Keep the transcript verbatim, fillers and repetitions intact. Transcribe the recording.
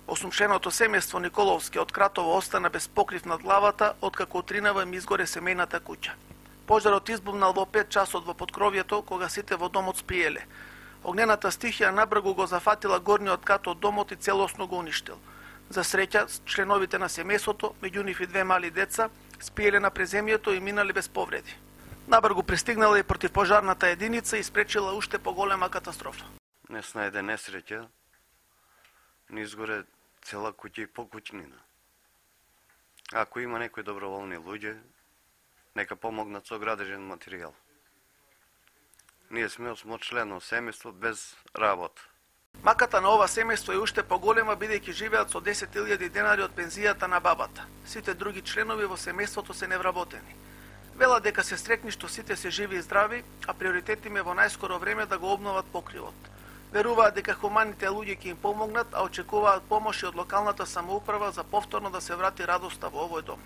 Осумшеното семејство Николовски од Кратово остана без покрив над главата, откако утринава им изгоре семејната куќа. Пожарот избувнал во пет часот во поткровието, кога сите во домот спиеле. Огнената стихија набрзо го зафатила горниот кат од домот и целосно го уништил. За среќа, членовите на семејството, меѓу нив и две мали деца, спиеле на преземјето и минале без повреди. Набрзо пристигнала и противпожарната единица и спречила уште поголема катастрофа. Днес најде несреќа, ни изгоре цела куќа и покуќнина. Ако има некои доброволни луѓе, нека помогнат со градежен материјал. Ние сме осмочлено семејство без работа. Маката на ова семејство е уште поголема, бидејќи живеат со десет илјади денари од пензијата на бабата. Сите други членови во семејството се невработени. Вела дека се среќни што сите се живи и здрави, а приоритет им е во најскоро време да го обноват покривот. Веруваат дека хуманите луѓе ќе им помогнат, а очекуваат помош и од локалната самоуправа за повторно да се врати радоста во овој дом.